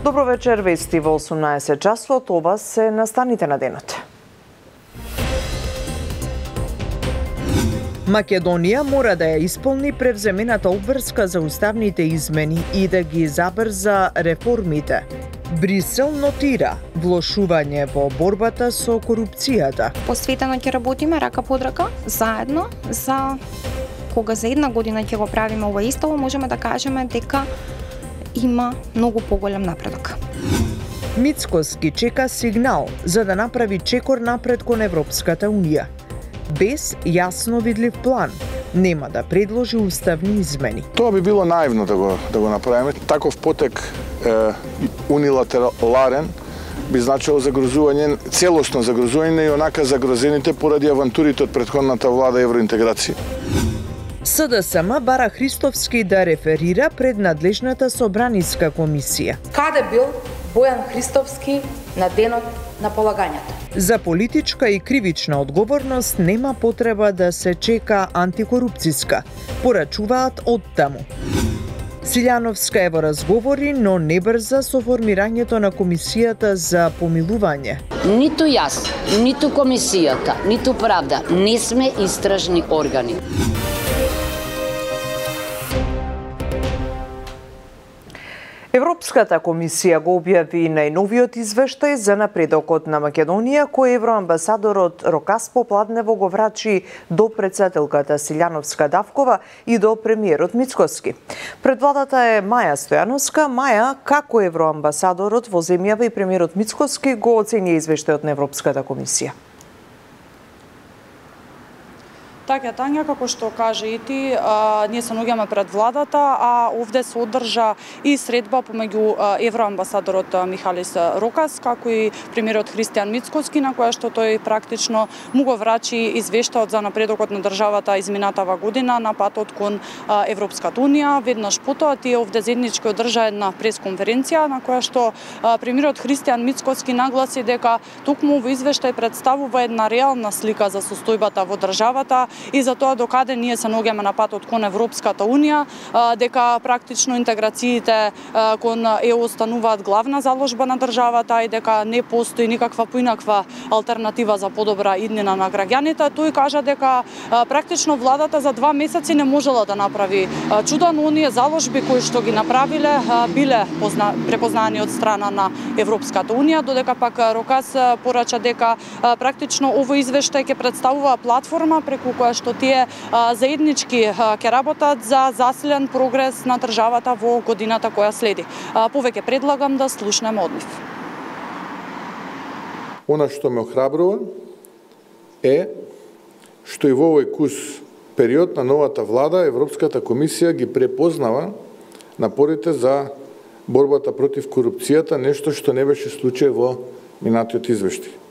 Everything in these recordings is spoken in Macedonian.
Добро вечер, вести во 18 часот, ова се настаните на денот. Македонија мора да ја исполни превземената обврска за уставните измени и да ги забрза реформите. Брисел нотира влошување во борбата со корупцијата. Посветено ќе работиме рака под рака, заедно, за кога за една година ќе го правиме ова истово, можеме да кажеме дека има многу поголем напредок. Мицкоски чека сигнал за да направи чекор напред кон Европската Унија. Без јасно видлив план, нема да предложи уставни измени. Тоа би било наивно да го направиме. Таков потек унилатерален би значило загрозување, целосно загрозување и онака загрозените поради авантурите од претходната влада евроинтеграција. СДСМ бара Христовски да реферира пред надлежната собраниска комисија. Каде бил Бојан Христовски на денот на полагањето? За политичка и кривична одговорност нема потреба да се чека антикорупцијска, порачуваат од таму. Силјановска е во разговори, но не брза со формирањето на комисијата за помилување. Ниту јас, ниту комисијата, ниту правда не сме истражни органи. Европската комисија го објави најновиот извештај за напредокот на Македонија, кој евроамбасадорот Рокас Попладнево го врачи до претседателката Силјановска Давкова и до премиерот Мицкоски. Пред владата е Маја Стојановска. Маја, како евроамбасадорот во земјава и премиерот Мицкоски го оценија извештајот на Европската комисија? Така, Тања, како што кажа и ти, ние се наоѓаме пред владата, а овде се одржа и средба помеѓу евроамбасадорот Михалис Рокас, како и премиерот Христијан Мицкоски, на која што тој практично му го врачи извештајот за напредокот на државата изминатава година на патот кон Европската Унија. Веднаш потоа тие овде заеднички одржа една пресконференција на која што премиерот Христијан Мицкоски нагласи дека токму во извештај представува една реална слика за состојбата во државата и за тоа докаде ние се наоѓаме на патот кон Европската Унија, дека практично интеграциите кон ЕУ стануваат главна заложба на државата и дека не постои никаква поинаква алтернатива за подобра иднина на граѓаните. Тој кажа дека практично владата за 2 месеци не можела да направи чуда, но оние заложби кои што ги направиле биле препознани од страна на Европската Унија, додека пак Рокас порача дека практично овој извештај ќе представува платформа преку која што тие заеднички ќе работат за засилен прогрес на државата во годината која следи. Повеќе предлагам да слушнеме од нив. Она што ме охрабрува е што и во овој кус период на новата влада Европската комисија ги препознава напорите за борбата против корупцијата, нешто што не беше случај во минатиот извештај.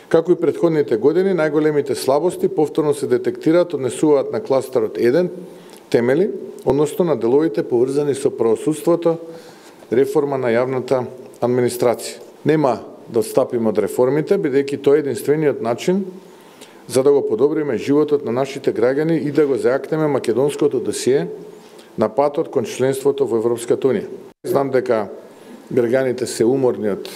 Како и претходните години, најголемите слабости повторно се детектираат, однесуваат на кластерот 1 темели, односно на деловите поврзани со правосудството, реформа на јавната администрација. Нема да отстапиме од реформите, бидејќи тоа е единствениот начин за да го подобриме животот на нашите граѓани и да го зајакнеме македонското досие на патот кон членството во Европската Унија. Знам дека граѓаните се уморни од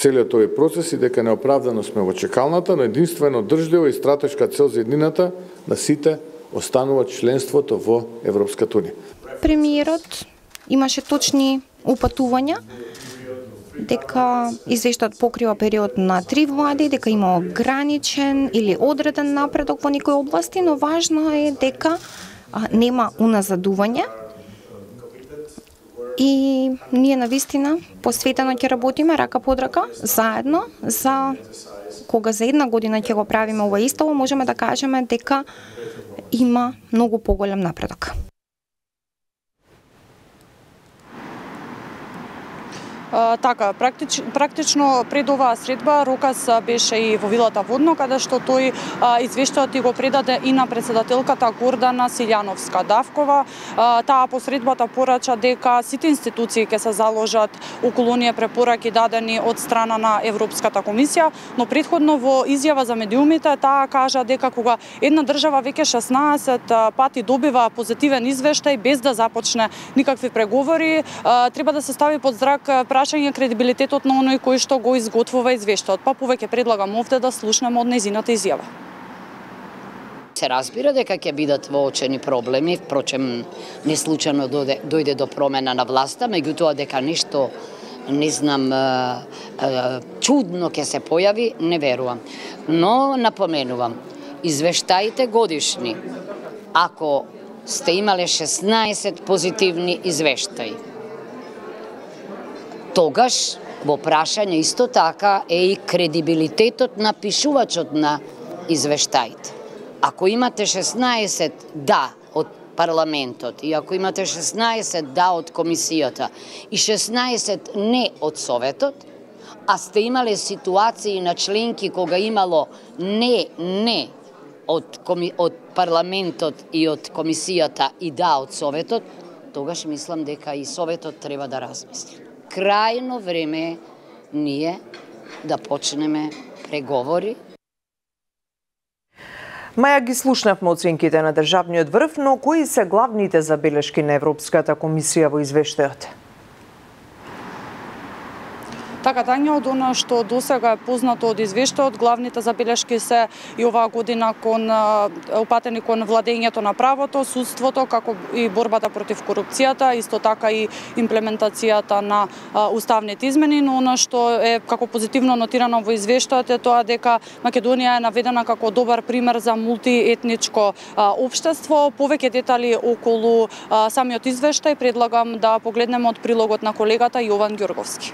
целиот овој процес и дека неоправдано сме во чекалната, но единствено држлива и стратешка цел за еднината на сите останува членството во Европската Унија. Премиерот имаше точни упатувања дека извештајот покрива период на 3 влади, дека има ограничен или одреден напредок во некои области, но важно е дека нема уназадување. И ние навистина посветено ќе работиме рака под рака, заедно, за кога за една година ќе го правиме ова истово, можеме да кажеме дека има многу поголем напредок. Така, практично пред оваа средба Рокас беше и во вилата Водно, каде што тој извештајот и го предаде и на претседателката Гордана Силјановска Давкова. Таа по средбата порача дека сите институции ќе се заложат околу оние препораки дадени од страна на Европската комисија, но претходно во изјава за медиумите таа кажа дека кога една држава веќе 16 пати добива позитивен извештај без да започне никакви преговори, треба да се стави под зрак прашање кредибилитетот на оној кој што го изготвува извештајот, па повеќе предлагам овде да слушнеме од нејзината изјава. Се разбира дека ќе бидат воочени проблеми, впрочем не случајно дојде до промена на власта, меѓутоа дека нешто не знам чудно ќе се појави, не верувам. Но напоменувам, извештаите годишни, ако сте имале 16 позитивни извештаи, тогаш во прашање исто така е и кредибилитетот на пишувачот на извештаите. Ако имате 16 да од парламентот и ако имате 16 да од комисијата и 16 не од советот, а сте имале ситуации на членки кога имало не од парламентот и од комисијата и да од советот, тогаш мислам дека и советот треба да размисли. Крајно време е ние да почнеме преговори. Маја, ги слушнавме оценките на државниот врв, но кои се главните забелешки на Европската комисија во извештајот? Така, Тања, од она што досега е познато од извештајот, главните забелешки се и оваа година упатени кон владењето на правото, судството, како и борбата против корупцијата, исто така и имплементацијата на уставните измени, но она што е како позитивно нотирано во извештајот е тоа дека Македонија е наведена како добар пример за мултиетничко општество. Повеќе детали околу самиот извештај предлагам да погледнеме од прилогот на колегата Јован Ѓорговски.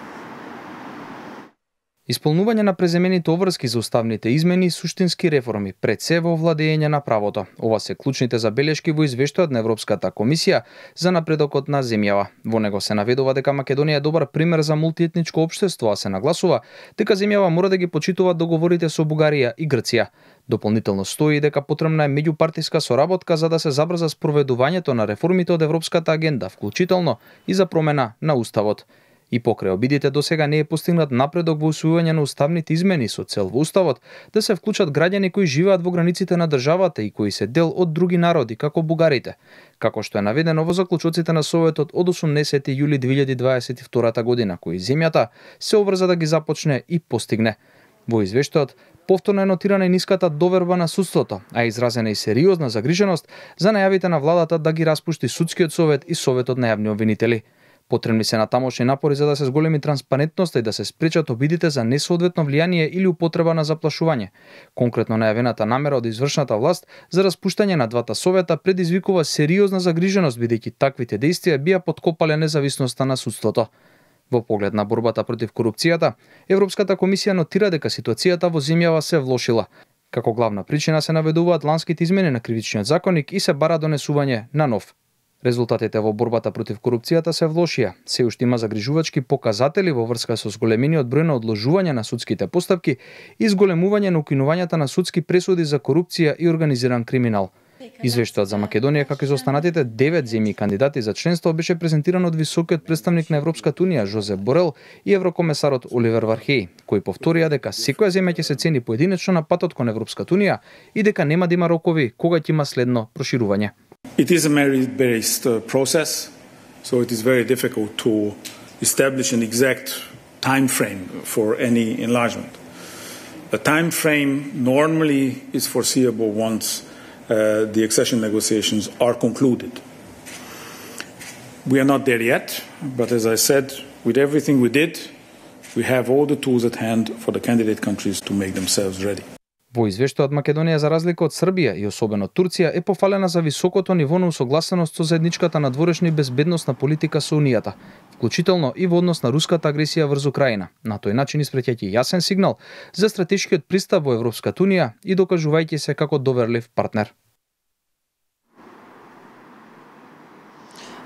Исполнување на преземените обврски за уставните измени и суштински реформи, пред се во владење на правото. Ова се клучните забелешки во извештајот на Европската комисија за напредокот на земјава. Во него се наведува дека Македонија е добар пример за мултиетничко општество, а се нагласува дека земјава мора да ги почитуваат договорите со Бугарија и Грција. Дополнително стои дека потребна е меѓупартиска соработка за да се забрза спроведувањето на реформите од Европската агенда, вклучително и за промена на уставот. И покрај обидите досега не е постигнат напредок во усвојување на уставните измени со цел во уставот да се вклучат граѓани кои живеат во границите на државата и кои се дел од други народи, како бугарите, како што е наведено во заклучоците на Советот од 80 јули 2022 година, кои земјата се обврза да ги започне и постигне. Во извештајот повторно е нотирана и ниската доверба на судството, а изразена и сериозна загриженост за најавите на владата да ги распушти судскиот совет и советот на јавни обвинители. Потребни се натамошни напори за да се зголеми транспарентноста и да се спречат обидите за несоодветно влијание или употреба на заплашување. Конкретно најавената намера од извршната власт за распуштање на двата совета предизвикува сериозна загриженост, бидејќи таквите дејствија бија подкопале независноста на судството. Во поглед на борбата против корупцијата, Европската комисија нотира дека ситуацијата во земјава се влошила. Како главна причина се наведуваат ланските измени на кривичниот законник и се бара донесување на нов. Резултатите во борбата против корупцијата се влошија. Се уште има загрижувачки показатели во врска со зголемениот број на одложување на судските постапки и зголемување на укинувањата на судски пресуди за корупција и организиран криминал. Извештајот за Македонија, како и за останатите 9 земји кандидати за членство, беше презентиран од високиот представник на Европската унија Жозеп Борел и еврокомесарот Оливер Вархеј, кои повторија дека секоја земја ќе се цени поединечно на патот кон Европската унија и дека нема да има рокови кога ќе има следно проширување. It is a merit-based process, so it is very difficult to establish an exact time frame for any enlargement. A time frame normally is foreseeable once the accession negotiations are concluded. We are not there yet, but as I said, with everything we did, we have all the tools at hand for the candidate countries to make themselves ready. Во извештајот Македонија, за разлика од Србија и особено Турција, е пофалена за високото ниво на усогласеност со заедничката надворешна и безбедносна политика со Унијата, вклучително и во однос на руската агресија врз Украина. На тој начин испреќајќи јасен сигнал за стратешкиот пристап во Европската унија и докажувајќи се како доверлив партнер.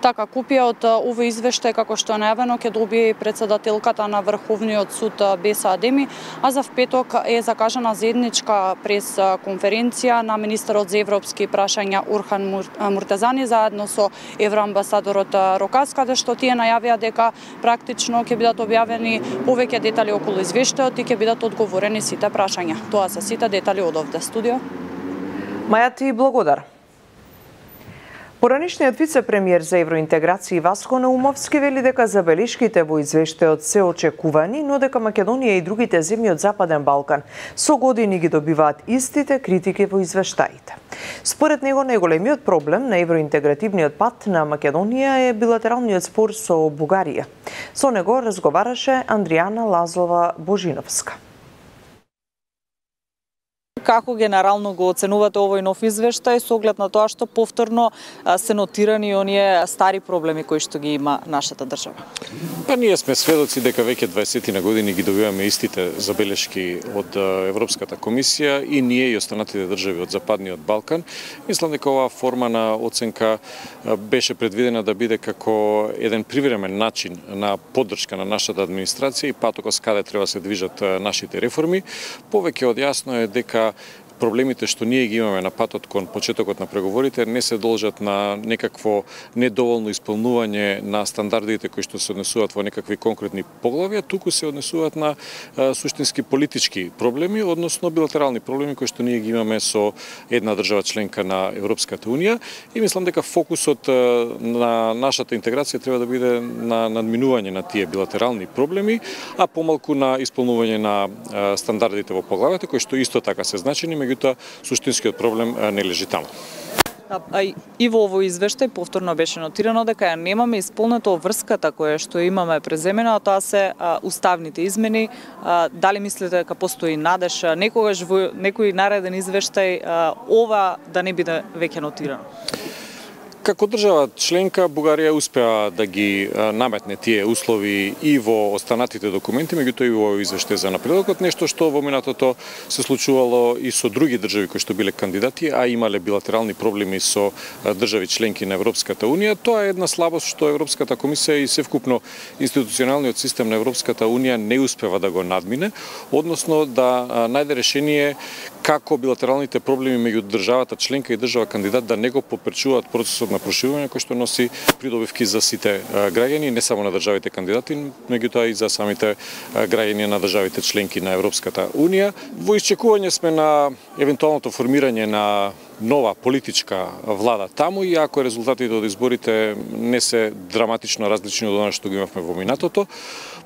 Така, копија од овој извештај, како што е најавено, ќе добие председателката на Врховниот суд Беса Адеми, а за впеток е закажана заедничка прес-конференција на министерот за европски прашања Орхан Муртазани заедно со евроамбасадорот Рокас, каде што тие најавија дека практично ќе бидат објавени повеќе детали околу извештајот и ќе бидат одговорени сите прашања. Тоа се сите детали од овде студио. Маја, ти благодарам. Поранишниот вице-премиер за евроинтеграција Васко Наумовски вели дека забелешките во извештајот се очекувани, но дека Македонија и другите земји од Западен Балкан со години ги добиваат истите критики во извештаите. Според него најголемиот проблем на евроинтегративниот пат на Македонија е билатералниот спор со Бугарија. Со него разговараше Андријана Лазова Божиновска. Како генерално го оценувате овој нов извештај со оглед на тоа што повторно се нотирани оние стари проблеми кои што ги има нашата држава? Па ние сме сведоци дека веќе 20 на години ги добиваме истите забелешки од Европската комисија и ние и останатите држави од Западниот Балкан. Мислам дека оваа форма на оценка беше предвидена да биде како еден привремен начин на поддршка на нашата администрација и патокос каде треба се движат нашите реформи. Повеќе од јасно е дека проблемите што ние ги имаме на патот кон почетокот на преговорите не се должат на некакво недоволно исполнување на стандардите кои што се однесуваат во некакви конкретни поглавја, туку се однесуваат на суштински политички проблеми, односно билатерални проблеми кои што ние ги имаме со една држава членка на Европската Унија и мислам дека фокусот на нашата интеграција треба да биде на надминување на тие билатерални проблеми, а помалку на исполнување на стандардите во поглавјата кои што исто така се значени, меѓутоа суштинскиот проблем не лежи таму. И во овој извештај повторно беше нотирано дека ја немаме исполнето врската која што имаме преземена, а тоа се уставните измени. Дали мислите дека постои надеж некогаш во некој нареден извештај ова да не биде веќе нотирано? Како држава членка, Бугарија успеа да ги наметне тие услови и во останатите документи, меѓутоа и во извештај за напредокот, нешто што во минатото се случувало и со други држави кои што биле кандидати, а имале билатерални проблеми со држави членки на Европската Унија. Тоа е една слабост што Европската комисија и севкупно институционалниот систем на Европската Унија не успева да го надмине, односно да најде решение како билатералните проблеми меѓу државата членка и држава кандидат да не го попречуваат процесот на проширување кој што носи придобивки за сите граѓани, не само на државите кандидати, меѓутоа и за самите граѓани на државите членки на Европската Унија. Во исчекување сме на евентуалното формирање на нова политичка влада таму и ако резултатите од изборите не се драматично различни од она што ги имавме во минатото,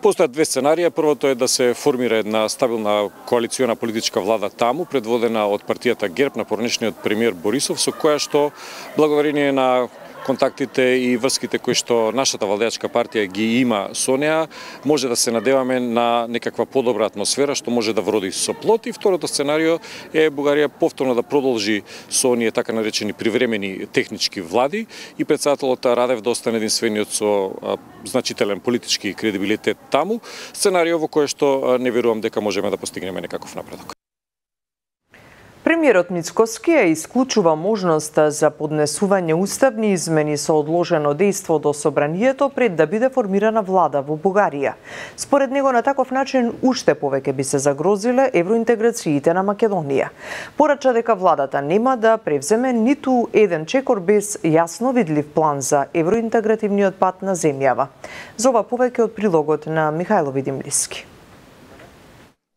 постојат две сценарија. Првото е да се формира една стабилна коалициона политичка влада таму, предводена од партијата ГЕРБ на поранешниот премиер Борисов, со која што благодарение на контактите и врските кои што нашата владеачка партија ги има со неа, може да се надеваме на некаква подобра атмосфера што може да вроди со плод. И второто сценарио е Бугарија повторно да продолжи со оние така наречени привремени технички влади и претседателот Радев да остане единствениот со значителен политички кредибилитет таму. Сценарио во кое што не верувам дека можеме да постигнеме некаков напредок. Премиерот Мицкоски ја исклучува можноста за поднесување уставни измени со одложено дејство до собранието пред да биде формирана влада во Бугарија. Според него на таков начин уште повеќе би се загрозиле евроинтеграциите на Македонија. Порача дека владата нема да превземе ниту еден чекор без јасно видлив план за евроинтегративниот пат на земјава. За ова повеќе од прилогот на Михајло Видимлиски.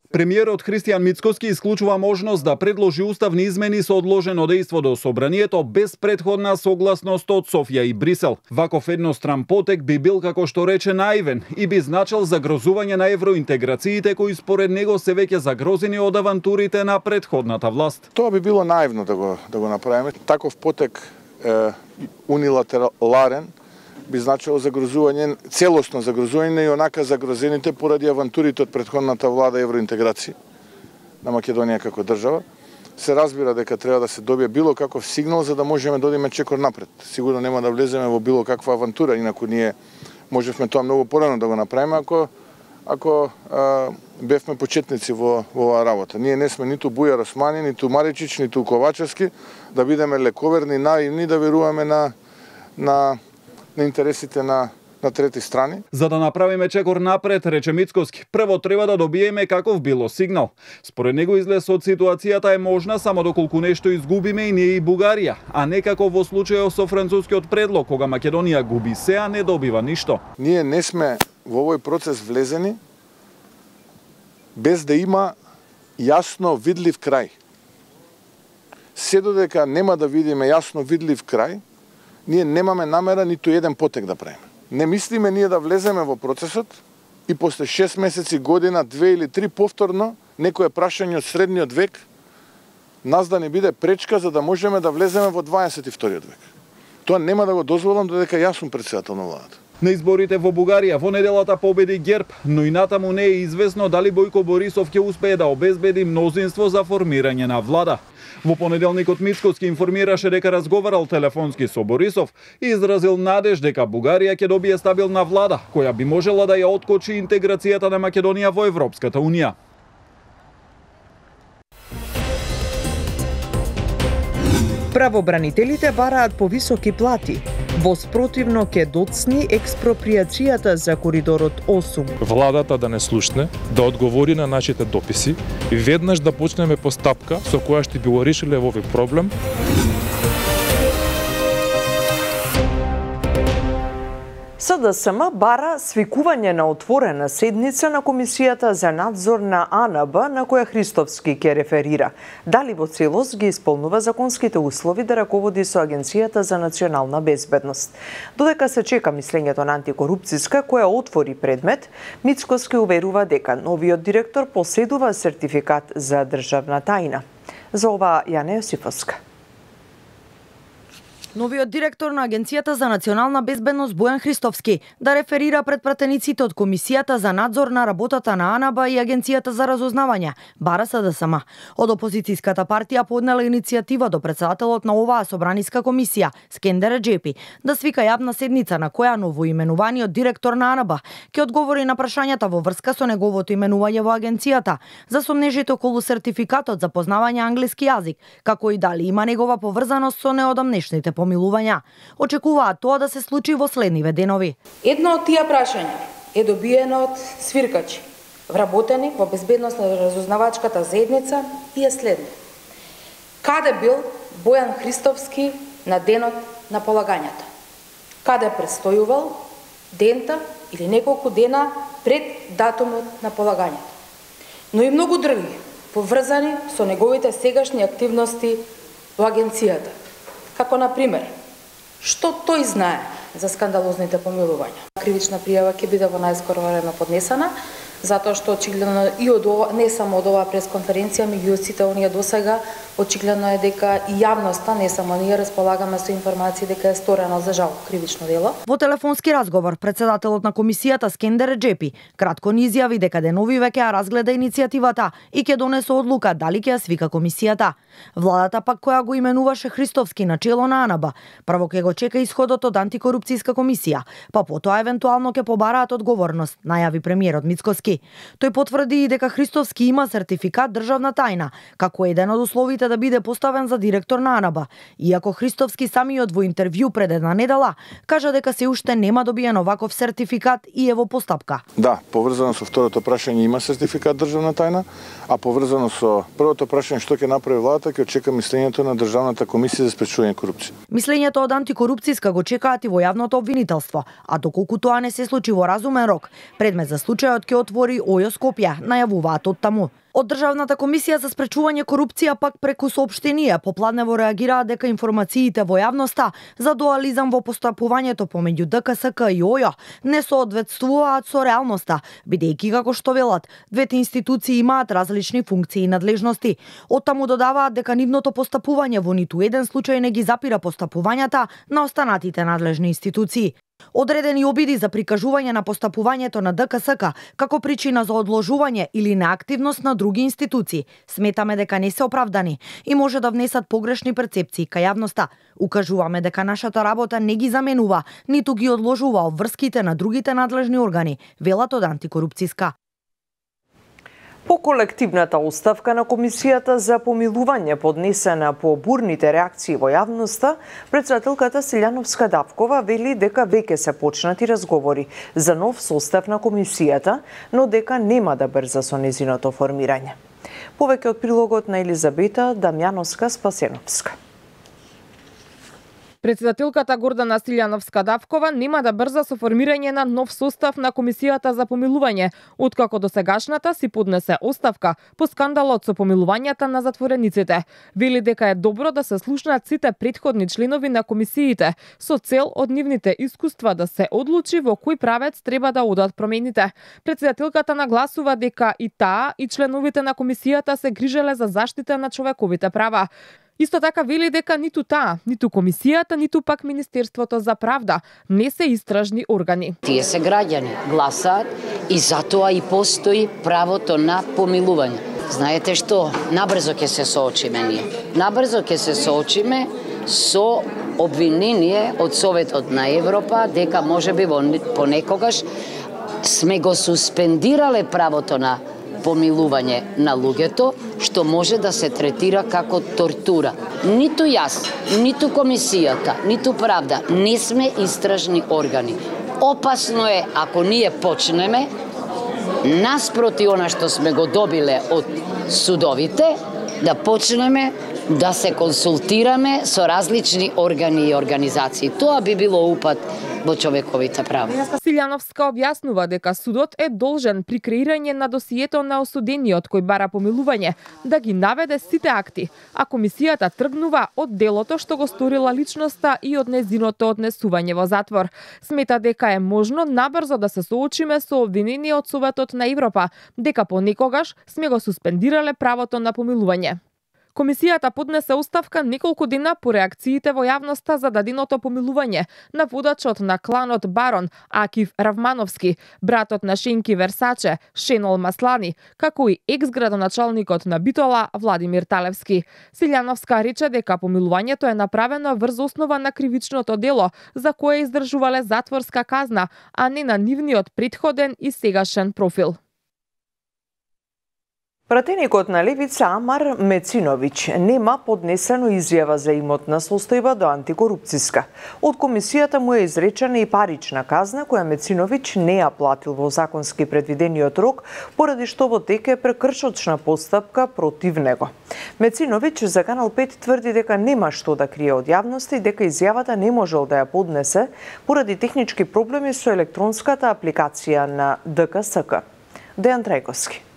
Премиерот Христијан Мицкоски исклучува можност да предложи уставни измени со одложено дејство до собранието без претходна согласност од Софија и Брисел. Ваков едностран потек би бил, како што рече, наивен и би значил загрозување на евроинтеграциите кои според него се веќе загрозени од авантурите на претходната власт. Тоа би било наивно да го направиме. Таков потек унилатерален би значило загрозување, целосно загрозување и онака загрозените поради авантурите од претходната влада евроинтеграција на Македонија како држава. Се разбира дека треба да се добие било каков сигнал за да можеме да одиме чекор напред. Сигурно нема да влеземе во било каква авантура, инаку ние можевме тоа многу порано да го направиме ако бевме почетници во оваа работа. Ние не сме ниту Бујар Османи, ниту Маричич, ниту Ковачевски да бидеме лековерни, наивни, да веруваме на интересите на трети страни. За да направиме чекор напред, рече Мицкоски, прво треба да добиеме каков било сигнал. Според него излез од ситуацијата е можна само доколку нешто изгубиме и ние и Бугарија, а не како во случајот со францускиот предлог, кога Македонија губи се, а не добива ништо. Ние не сме во овој процес влезени без да има јасно видлив крај. Се додека нема да видиме јасно видлив крај, ние немаме намера ниту еден потек да правиме. Не мислиме ние да влеземе во процесот и после 6 месеци, година, 2 или 3 повторно некое прашање од средниот век нас да не биде пречка за да можеме да влеземе во 22 век. Тоа нема да го дозволам додека јас сум претседател на владата. На изборите во Бугарија во неделата победи ГЕРБ, но и натаму не е известно дали Бојко Борисов ќе успее да обезбеди мнозинство за формирање на влада. Во понеделникот Мицкоски информираше дека разговарал телефонски со Борисов и изразил надеж дека Бугарија ќе добие стабилна влада, која би можела да ја откочи интеграцијата на Македонија во Европската Унија. Правобранителите бараат повисоки плати. Во спротивно ке доцни експроприацијата за коридорот 8. Владата да не слушне, да одговори на нашите дописи и веднаш да почнеме постапка со која што би го решиле овој проблем. СДСМ бара свикување на отворена седница на Комисијата за надзор на АНБ, на која Христовски ќе реферира. Дали во целост ги исполнува законските услови да раководи со Агенцијата за национална безбедност. Додека се чека мислењето на антикорупцијска која отвори предмет, Мицкоски уверува дека новиот директор поседува сертификат за државна тајна. За ова Јане Јосифовска. Новиот директор на Агенцијата за национална безбедност Бојан Христовски да реферира пред пратениците од Комисијата за надзор на работата на АНБ и Агенцијата за разузнавање, бара СДСМ. Од опозицијската партија поднела иницијатива до претседателот на оваа собраниска комисија, Скендер Реџепи, да свика јавна седница на која новоименуваниот директор на АНБ ќе одговори на прашањата во врска со неговото именување во агенцијата, за сомнежите околу сертификатот за познавање англиски јазик, како и дали има негова поврзаност со неодамнешните помилувања. Очекуваат тоа да се случи во следниве денови. Едно од тие прашања е добиено од свиркачи, вработени во безбедносна разузнавачката заедница и е следно. Каде бил Бојан Христовски на денот на полагањето? Каде престојувал дента или неколку дена пред датумот на полагањето? Но и многу други поврзани со неговите сегашни активности во агенцијата. Како, например, што тој знае за скандалозните помилувања. Кривична пријава ќе биде во најскоро време поднесена, затоа што очигледно и од ова, не само од оваа пресконференција, меѓу сите оние досега, очигледно е дека и јавноста, не само ние, располагаме со информации дека е сторено за жал кривично дело. Во телефонски разговор, председателот на комисијата Скендер Реџепи кратко ни изјави дека деновиве ќе ја разгледа иницијативата и ќе донесе одлука дали ќе ја свика комисијата. Владата пак која го именуваше Христовски на чело на АНБ, прво ќе го чека исходот од антикорупцијска комисија, па потоа евентуално ќе побараат одговорност, најави премиерот Мицкоски. Тој потврди и дека Христовски има сертификат државна тајна, како еден од условите да биде поставен за директор на АНБ. Иако Христовски самиот во интервју пред една недела кажа дека се уште нема добиен оваков сертификат и е во постапка. Да, поврзано со второто прашање има сертификат државна тајна, а поврзано со првото прашање што ќе направи владата, ќе очека мислењето на Државната комисија за спречување корупција. Мислењето од антикорупцијска го чекаат и во јавното обвинителство, а доколку тоа не се случи во разумен рок, предмет за случајот ќе отвори ОЈО Скопје, најавуваат од таму. Од Државната комисија за спречување корупција пак преку соопштенија попладнево реагираат дека информациите во јавноста за дуализам во постапувањето помеѓу ДКСК и ОЈО не соодветствуваат со реалноста, бидејќи како што велат, двете институции имаат различни функции и надлежности. Оттаму додаваат дека нивното постапување во ниту еден случај не ги запира постапувањата на останатите надлежни институции. Одредени обиди за прикажување на постапувањето на ДКСК како причина за одложување или неактивност на други институции сметаме дека не се оправдани и може да внесат погрешни перцепции кај јавноста. Укажуваме дека нашата работа не ги заменува, ниту ги одложува обврските на другите надлежни органи, велат од антикорупцијска. По колективната оставка на Комисијата за помилување поднесена по бурните реакции во јавноста, претседателката Силјановска Давкова вели дека веќе се почнати разговори за нов состав на Комисијата, но дека нема да брза со незиното формирање. Повеќе од прилогот на Елизабета Дамјановска-Спасеновска. Председателката Гордана Силјановска-Давкова нема да брза со формирање на нов состав на Комисијата за помилување, откако досегашната си поднесе оставка по скандалот со помилувањата на затворениците. Вели дека е добро да се слушнат сите претходни членови на комисиите со цел од нивните искуства да се одлучи во кој правец треба да одат промените. Председателката нагласува дека и таа и членовите на комисијата се грижеле за заштита на човековите права. Исто така вели дека ниту таа, ниту комисијата, ниту пак Министерството за правда не се истражни органи. Тие се граѓани, гласаат и затоа и постои правото на помилување. Знаете што, набрзо ќе се соочиме ние. Набрзо ќе се соочиме со обвинение од Советот на Европа дека можеби понекогаш сме го суспендирале правото на помилување на луѓето, што може да се третира како тортура. Ниту јас, ниту комисијата, ниту правда не сме истражни органи. Опасно е ако ние почнеме наспроти она што сме го добиле од судовите, да почнеме да се консултираме со различни органи и организации. Тоа би било упат во човековите права. Силјановска објаснува дека судот е должен при креирање на досието на осудениот кој бара помилување да ги наведе сите акти, а комисијата тргнува од делото што го сторила личноста и од незиното однесување во затвор. Смета дека е можно набрзо да се соочиме со обвинение од Советот на Европа дека понекогаш сме го суспендирале правото на помилување. Комисијата поднесе оставка неколку дена по реакциите во јавноста за даденото помилување на водачот на кланот Барон Акив Равмановски, братот на Шенки Версаче, Шенол Маслани, како и екс-градоначалникот на Битола Владимир Талевски. Силјановска рече дека помилувањето е направено врз основа на кривичното дело за кое издржувале затворска казна, а не на нивниот претходен и сегашен профил. Пратеникот на Левица Амар Мециновиќ нема поднесено изјава за имотна состојба до антикорупцијска. Од комисијата му е изречена и парична казна која Мециновиќ не ја платил во законски предвидениот рок, поради што во тек е прекршочна постапка против него. Мециновиќ за Канал 5 тврди дека нема што да крие од јавноста и дека изјавата не можел да ја поднесе поради технички проблеми со електронската апликација на ДКСК. Дејан Трајковски.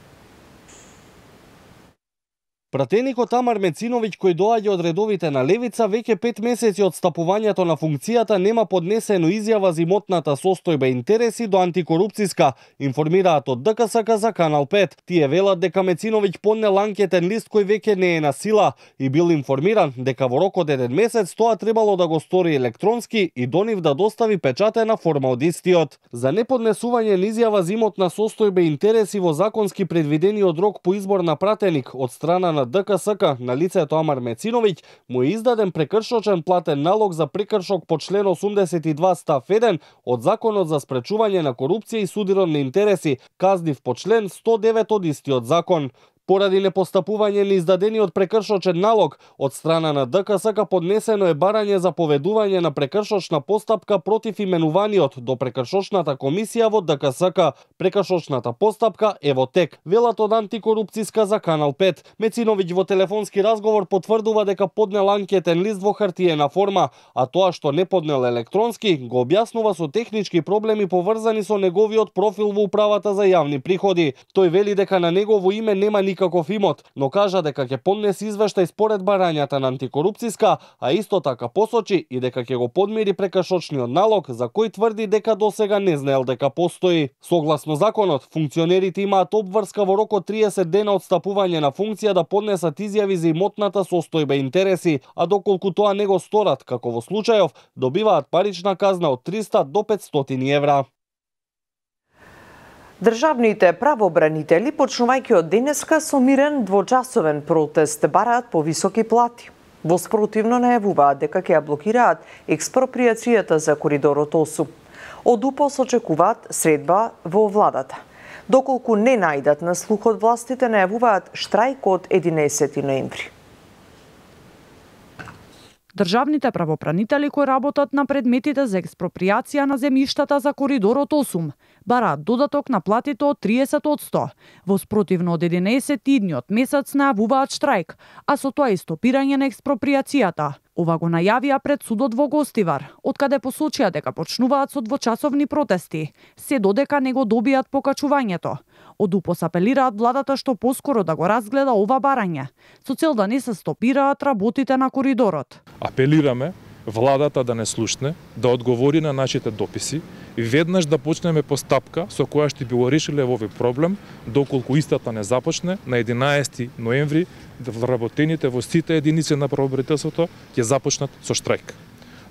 Пратеникот Амар Мециновиќ, кој доаѓа од редовите на Левица, веќе 5 месеци од стапувањето на функцијата нема поднесено изјава за имотната состојба и интереси до антикорупцијска, информираат од ДКСК за Канал 5. Тие велат дека Мециновиќ поднел анкетен лист кој веќе не е на сила и бил информиран дека во рок од 1 месец тоа требало да го стори електронски и до нив да достави печатена форма од истиот. За неподнесување на изјава за имотна состојба и интереси во законски предвидениот рок по избор на пратеник од страна на ДКСК на лицето Амар Мециновиќ му е издаден прекршочен платен налог за прекршок по член 82 став 1 од Законот за спречување на корупција и судирон на интереси, казнив по член 109 од истиот закон. Поради непостапување на издадениот прекршочен налог од страна на ДКСК поднесено е барање за поведување на прекршочна постапка против именуваниот до прекршочната комисија во ДКСК. Прекршочната постапка е во тек, велат од антикорупцијска за Канал 5. Мециновиќ во телефонски разговор потврдува дека поднел анкетен лист во хартиена форма, а тоа што не поднел електронски го објаснува со технички проблеми поврзани со неговиот профил во управата за јавни приходи. Тој вели дека на негово име нема никаков имот, но кажа дека ќе поднесе извештај според барањата на антикорупцијска, а исто така посочи и дека ќе го подмири прекршочниот налог за кој тврди дека досега не знаел дека постои. Согласно законот, функционерите имаат обврска во рок од 30 дена од стапување на функција да поднесат изјави за имотната состојба и интереси, а доколку тоа не го сторат, како во случајов, добиваат парична казна од 300 до 500 евра. Државните правобранители, почнувајќи од денеска со мирен двочасовен протест, бараат повисоки плати. Во спротивно најавуваат дека ќе ја блокираат експроприацијата за коридорот 8. Од УПОС очекуваат средба во владата. Доколку не најдат на слух од властите, најавуваат штрајк од 11 ноември. Државните правобранители кои работат на предметите за експроприација на земјиштата за коридорот 8 бараат додаток на платите од 30%. Во спротивно од 11 идниот месец најавуваат штрајк, а со тоа и стопирање на експроприацијата. Ова го најавија пред судот во Гостивар, откаде посочија дека почнуваат со двочасовни протести, се додека не го добијат покачувањето. Од УПОС апелираат владата што поскоро да го разгледа ова барање, со цел да не се стопираат работите на коридорот. Апелираме владата да не слушне, да одговори на нашите дописи и веднаш да почнеме постапка со која што би го решиле овој проблем, доколку истата не започне на 11 ноември вработените во сите единици на правобранителството ќе започнат со штрајк.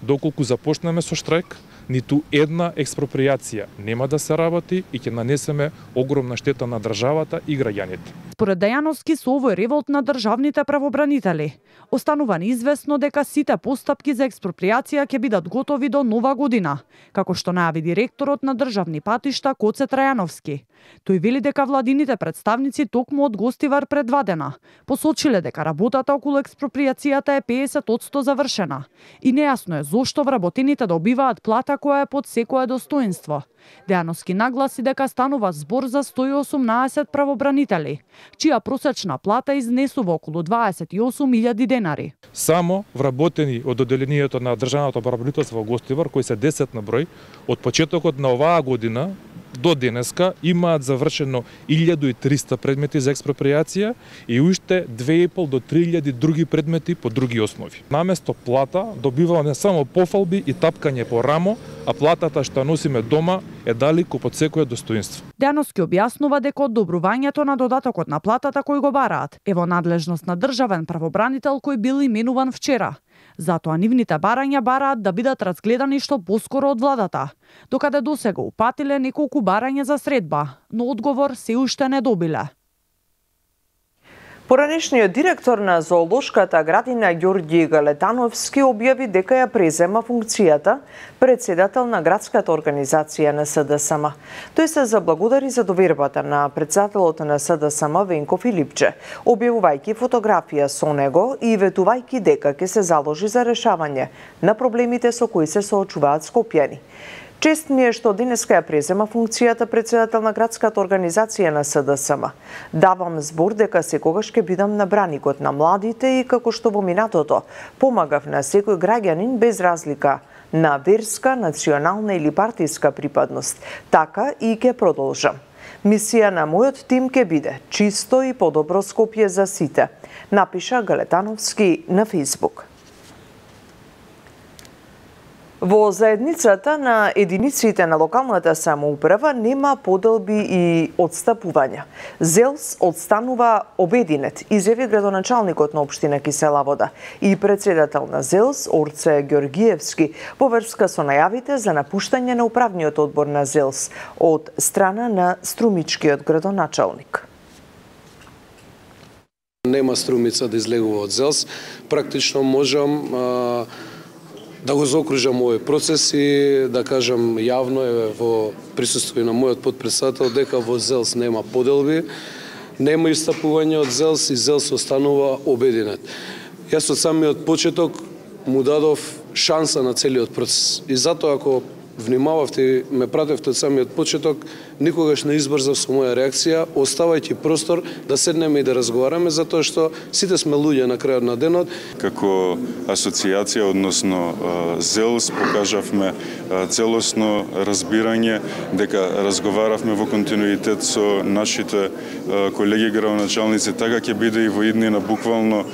Доколку започнеме со штрајк, ниту една експроприација нема да се работи и ќе нанесеме огромна штета на државата и граѓаните. Според Дејановски, со овој револт на државните правобранители останува неизвестно дека сите постапки за експроприација ќе бидат готови до нова година, како што најави директорот на државни патишта Коце Трајановски. Тој вели дека владините представници токму од Гостивар пред 2 дена посочиле дека работата околу експроприацијата е 50% завршена и нејасно е зошто вработените добиваат плата која е под секое достоинство. Дејановски нагласи дека станува збор за 118 правобранители, чија просечна плата изнесува околу 28.000 денари. Само вработени од одделението на државното правобранителство во Гостивар, кои се 10 на број, од почетокот на оваа година до денеска имаат завршено 1300 предмети за експроприација и уште 2.500 до 3.000 други предмети по други основи. Наместо плата добиваме не само пофалби и тапкање по рамо, а платата што носиме дома е далеку под секое достоинство. Дејановски објаснува дека одобрувањето на додатокот на платата кој го бараат е во надлежност на државен правобранител кој бил именуван вчера. Затоа нивните барања бараат да бидат разгледани што поскоро од владата, докаде досега упатиле неколку барања за средба, но одговор се уште не добиле. Поранешниот директор на зоолошката градина Ѓорѓи Галетановски објави дека ја презема функцијата председател на градската организација на СДСМ. Тој се заблагодари за довербата на председателот на СДСМ Венко Филипче, објавувајќи фотографија со него и ветувајќи дека ќе се заложи за решавање на проблемите со кои се соочуваат скопјани. Чест ми е што денеска ја презема функцијата председател на градската организација на СДСМ. Давам збор дека секогаш ќе бидам на браникот на младите и како што во минатото помагав на секој граѓанин без разлика на верска, национална или партиска припадност. Така и ќе продолжам. Мисија на мојот тим ќе биде чисто и подобро Скопје за сите, напиша Галетановски на Фејсбук. Во заедницата на единиците на локалната самоуправа нема поделби и одстапувања. ЗЕЛС одстанува обединет, изјави градоначалникот на општина Кисела Вода и председател на ЗЕЛС Орце Ѓорѓиевски во врска со најавите за напуштање на управниот одбор на ЗЕЛС од страна на струмичкиот градоначалник. Нема струмица да излегува од ЗЕЛС, практично можам да го заокружам овој процес и да кажам јавно во присуство на мојот потпредседател дека во ЗЕЛС нема поделби, нема истапување од ЗЕЛС и ЗЕЛС останува обединет. Јас од самиот почеток му дадов шанса на целиот процес и затоа ако внимававте и ме пратевте од самиот почеток, никогаш не избрзав со моја реакција, оставајќи простор да седнеме и да разговараме, затоа што сите сме луѓе на крајот на денот. Како асоциација, односно ЗЕЛС, покажавме целосно разбирање дека разговаравме во континуитет со нашите колеги градоначалници, така ќе биде и во иднина буквално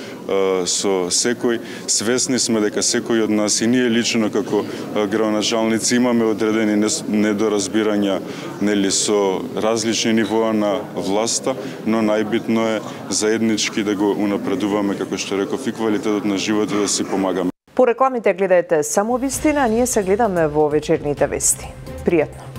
со секој. Свесни сме дека секој од нас и ние лично како градоначалници имаме одредени недоразбирања, нели, со различни нивоа на власта, но најбитно е заеднички да го унапредуваме, како што реков, и квалитетот на животот да си помагаме. По рекламите гледајте само вистина, а ние се гледаме во вечерните вести. Пријатно!